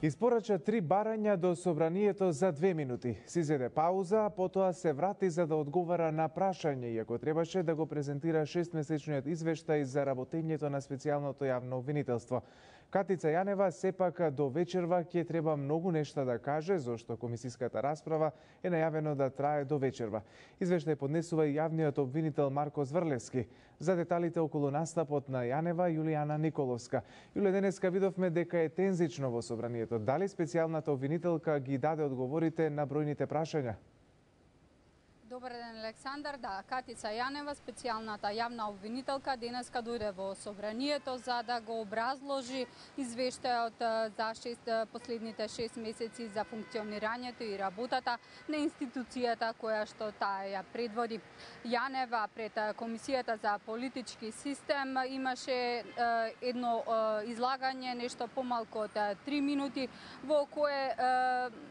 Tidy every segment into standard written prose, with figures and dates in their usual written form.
Испорача 3 барања до собранието за 2 минути. Си зеде пауза, а потоа се врати за да одговара на прашање, иако требаше да го презентира 6-месечниот извештај за работењето на специјалното јавно обвинителство. Катица Јанева сепак до вечерва ќе треба многу нешта да каже, зашто комисиската расправа е најавено да трае до вечерва. Извештај поднесува и јавниот обвинител Марко Зврлевски. За деталите околу настапот на Јанева, Јулијана Николовска. Јуле, денеска видовме дека е тензично во собранието. Дали специјалната обвинителка ги даде одговорите на бројните прашања? Добар ден, Александар. Да, Катица Јанева, специјалната јавна обвинителка, денеска дојде во собранието за да го образложи извештајот за последните 6 месеци за функционирањето и работата на институцијата која што таа ја предводи. Јанева пред Комисијата за политички систем имаше едно излагање нешто помалку од 3 минути во кое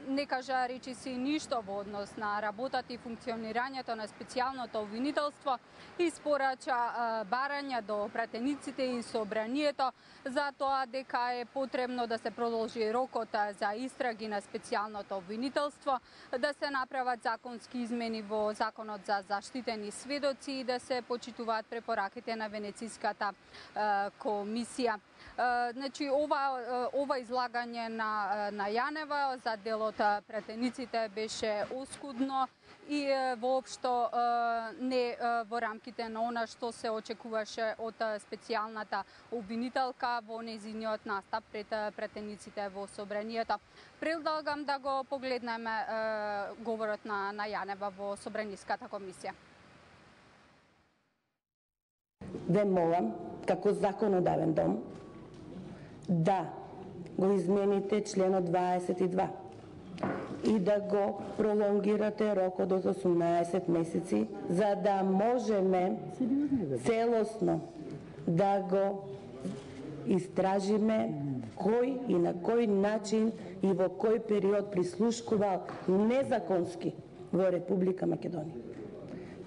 не кажа речиси ништо во однос на работата и функционирањето на специјалното обвинителство, испорача барања до пратениците и собранието за тоа дека е потребно да се продолжи рокот за истраги на специјалното обвинителство, да се направат законски измени во Законот за заштитени сведоци и да се почитуваат препораките на Венециската комисија. Значи, ова излагање на Јанева за дел од пратениците беше оскудно и воопшто не во рамките на она што се очекуваше од специјалната обвинителка во нејзиниот настап пред пратениците во собранието. Предлагам да го погледнеме говорот на Јанева во Собраниската комисија. Ве молам, како законодавен дом, да го измените членот 22 и да го пролонгирате рокот од 18 месеци, за да можеме целосно да го истражиме кој и на кој начин и во кој период прислушкувал незаконски во Република Македонија.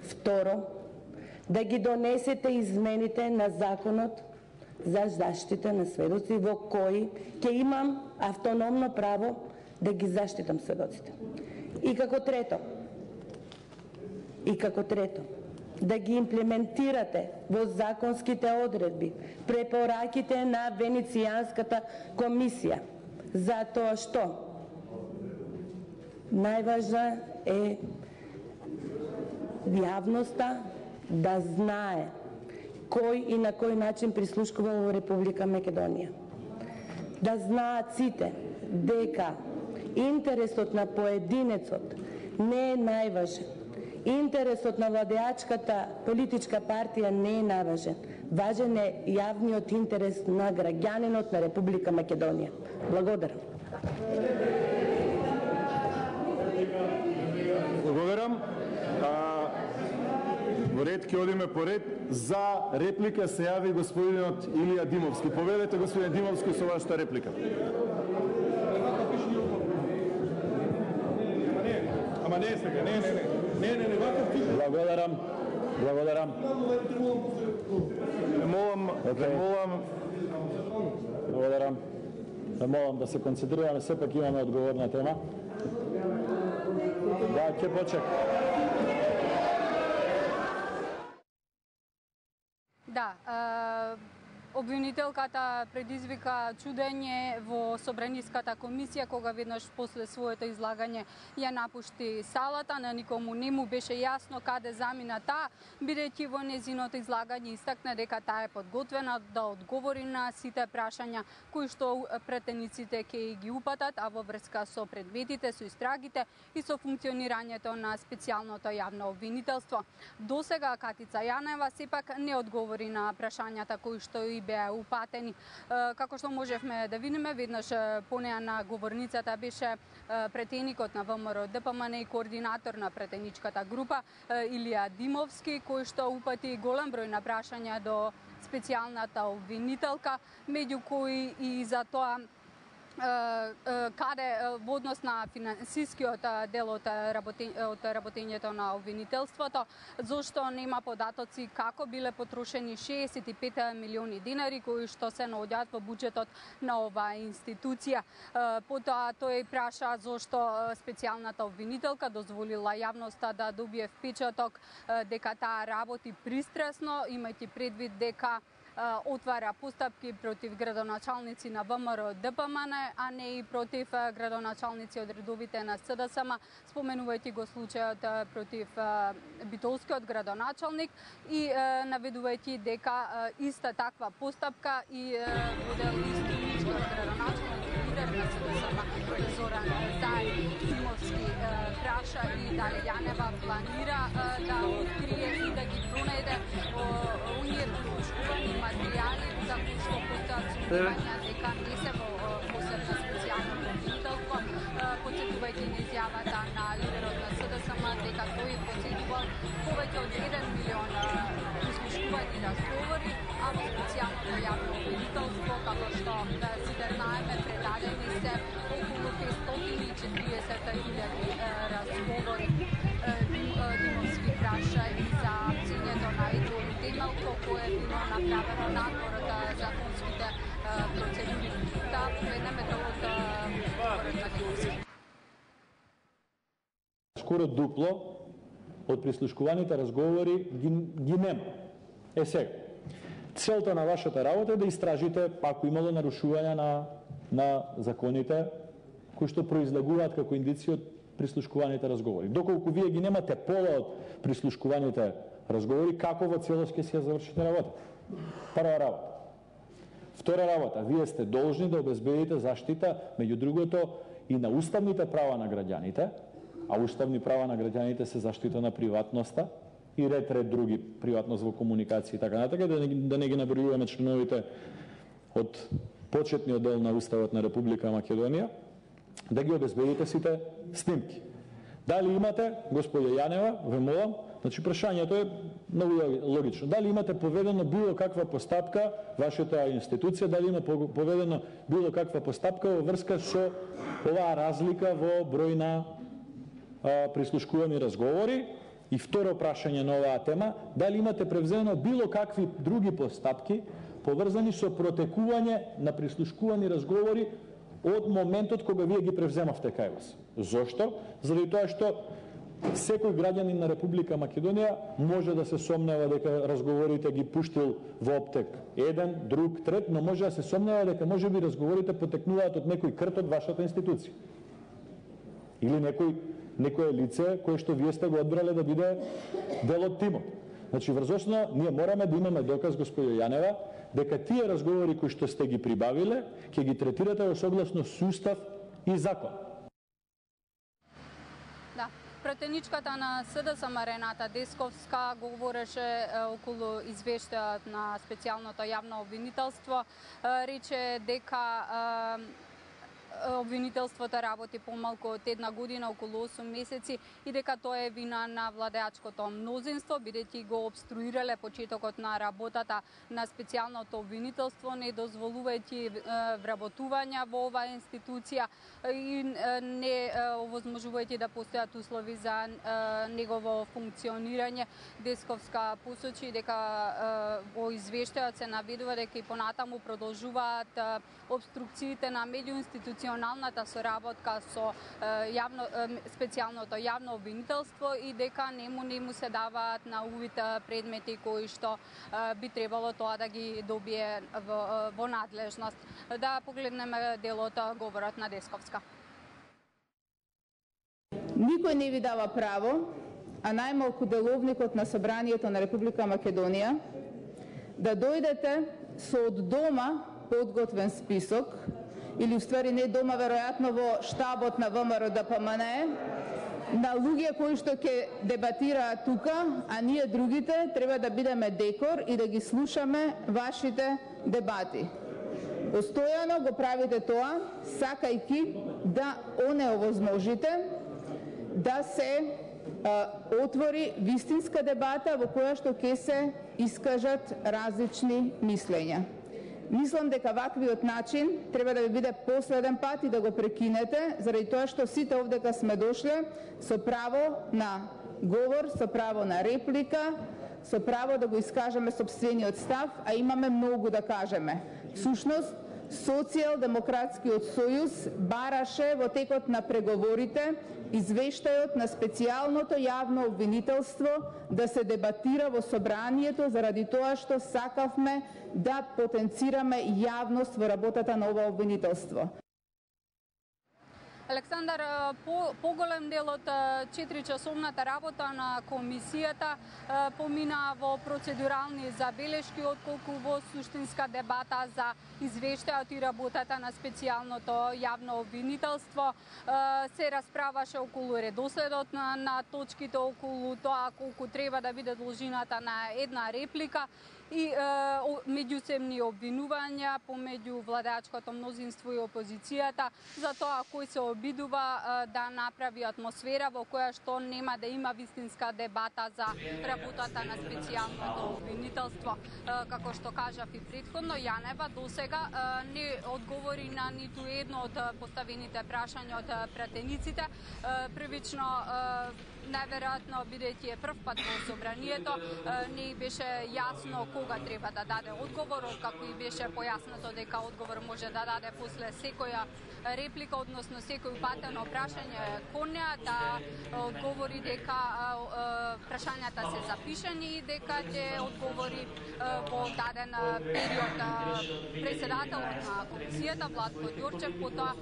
Второ, да ги донесете измените на Законот за заштита на сведоци во кој ќе имам автономно право да ги заштитам сведоците. И како трето, да ги имплементирате во законските одредби препораките на Венецијанската комисија, затоа што најважна е јавноста да знае кој и на кој начин прислушкува во Република Македонија. Да знаат сите дека интересот на поединецот не е најважен. Интересот на владеачката политичка партија не е најважен. Важен е јавниот интерес на граѓанинот на Република Македонија. Благодарам. Благодарам. Во ред ќе одиме по ред. За реплика се јави господинот Илија Димовски. Повелете, господин Димовски, со вашата реплика. Ама не сега, не, ваков тип. Благодарам. Молам да се концентрираме, сепак имаме одговорна тема. Да, ќе почекам. Да, обвинителката предизвика чудење во Собраниската комисија кога веднаш после своето излагање ја напушти салата. На никому не му беше јасно каде замина таа, бидејќи во незиното излагање истакна дека таа е подготвена да одговори на сите прашања кои што пратениците ќе ги упатат, а во врска со предметите, со истрагите и со функционирањето на специјалното јавно обвинителство. Досега Катица Јанева сепак не одговори на прашањата кои што и беа упатени. Како што можевме да видиме, веднаш по неа на говорницата беше претеникот на ВМРО ДПМН и координатор на претеничката група Илија Димовски, кој што упати голем број на прашања до специјалната обвинителка, меѓу кои и за тоа каде во однос на финансискиот дел од работењето на обвинителството, зашто нема податоци како биле потрошени 65 милиони динари кои што се наоѓаат во буџетот на оваа институција. Потоа тој праша зашто специјалната обвинителка дозволила јавноста да добие впечаток дека таа работи пристрасно, имајќи предвид дека отвара постапки против градоначалници на ВМРО ДПМН, а не и против градоначалници од редовите на СДСМ, споменувајќи го случајот против битолскиот градоначалник и наведувајќи дека иста таква постапка и водел истиничкиот градоначалник лидер на СДСМ Зоран Зајмовски праша и дали Јанева планира да открие и да ги пронајде оние послушкувани материјали за кои што постојат сумнувања дека не се во посебна специјално обвинителство, потсетувајќи на изјавата на лидерот на СДСМ дека тој посетувал повеќе од 1 милион послушкувани разговори, а во специјалното јавно обвинителство, како што сите знаеме, предадени се околу 540.000 разговори. Димовски праша и за цењето на едно темелко кое е било направено надвор од законските процедури. Да поведеме од говорот на Димовски. Скоро дупло од прислушкуваните разговори ги нема. Сега, целта на вашата работа е да истражите ако имало нарушувања на законите кои што произлегуваат како индиција од прислушкуваните разговори. Доколку вие ги немате пола од прислушкуваните разговори, како во целост ќе се завршите работа? Прва работа. Втора работа, вие сте должни да обезбедите заштита, меѓу другото, и на уставните права на граѓаните, а уставни права на граѓаните се заштита на приватноста и ред други, приватност во комуникација и така натака, да не ги набројуваме членовите од почетниот дел на Уставот на Република Македонија, да ги обезбедите сите снимки. Дали имате, господја Јанева, ве молам, значи прашањето е многу логично. Дали имате поведено било каква постапка, вашата институција, дали има поведено било каква постапка во врска со оваа разлика во број на прислушкувани разговори? И второ прашање на оваа тема, дали имате превзено било какви други постапки поврзани со протекување на прислушкувани разговори од моментот кога вие ги превземавте кај вас. Зошто? Заради тоа што секој граѓанин на Република Македонија може да се сомнева дека разговорите ги пуштил во оптек еден, друг, трет, но може да се сомнева дека можеби разговорите потекнуваат од некој крт од вашата институција. Или некое лице кое што вие сте го одбрале да биде дел од тимот. Значи, врз основа, ние мораме да имаме доказ, господјо Јанева, дека тие разговори кои што сте ги прибавиле, ќе ги третирате во согласно со устав и закон. Да, пратеничката на СДСМ Рената Десковска говореше околу извештајот на специјалното јавно обвинителство, рече дека обвинителството работи помалку од една година, околу 8 месеци, и дека тоа е вина на владеачкото мнозинство, бидејќи го обструирале почетокот на работата на специјалното обвинителство, не дозволувајќи вработувања во оваа институција и не овозможувајќи да постојат услови за негово функционирање. Десковска посочи дека во извештајот се наведува дека и понатаму продолжуваат обструкциите на меѓуинституционалната соработка со специјалното јавно обвинителство и дека нему се даваат на увид предмети кои што би требало тоа да ги добие во надлежност. Да погледнеме делот говорот на Десковска. Никој не ви дава право, а најмалку деловникот на Собранието на Република Македонија, да дојдете со од дома подготвен список, или уствари не дома, веројатно во штабот на ВМРО ДПМН, на луѓе кои што ќе дебатираат тука, а ние другите треба да бидеме декор и да ги слушаме вашите дебати. Постојано го правите тоа, сакајки да онеовозможите да се отвори вистинска дебата во која што ќе се искажат различни мислења. Мислам дека ваквиот начин треба да ви биде последен пат и да го прекинете, заради тоа што сите овдека сме дошле со право на говор, со право на реплика, со право да го искажеме сопствениот став, а имаме многу да кажеме. Всушност, Социјалдемократскиот сојуз бараше во текот на преговорите извештајот на специјалното јавно обвинителство да се дебатира во собранието заради тоа што сакавме да потенцираме јавност во работата на ова обвинителство. Александар, поголем дел од 4-часовната работа на комисијата помина во процедурални забелешки, отколку во суштинска дебата за извештајот и работата на специјалното јавно обвинителство. Се расправаше околу редоследот на точките, околу тоа колку треба да биде должината на една реплика и меѓусебни обвинувања помеѓу владеачкото мнозинство и опозицијата за тоа кој се обидува да направи атмосфера во која што нема да има вистинска дебата за работата на специјалното обвинителство. Како што кажав и претходно, Јанева досега не одговори на ниту едно од поставените прашања од пратениците. Првично, најверојатно бидејќи е прв пат во собранието, не беше јасно кога треба да даде одговор, како и беше појаснато дека одговор може да даде после секоја реплика, односно секој упатено прашање кон неа, да одговори дека прашањата се запишани и дека ќе одговори во даден период. Председателот на комисијата Владко Ѓорчев потоа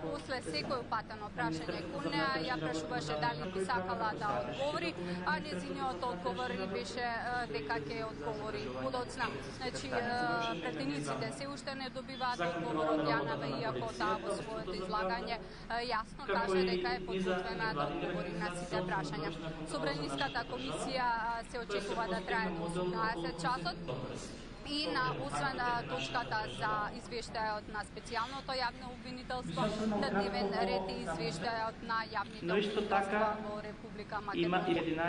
после секој упатено прашање кон неа ја прашуваше дали би сакала да одговори, а нејзиниот одговор беше дека ќе одговори подоцна. Значи, пратениците се уште не добиваат одговор од Јанева, иако таа во своето излагање јасно каже дека е подготвена да одговори на сите прашања. Собраниската комисија се очекува да трае до 18 часот. И освен точката за извештајот на специјалното јавно обвинителство, на дневен ред и извештајот на јавните обвинителства во Република Македонија.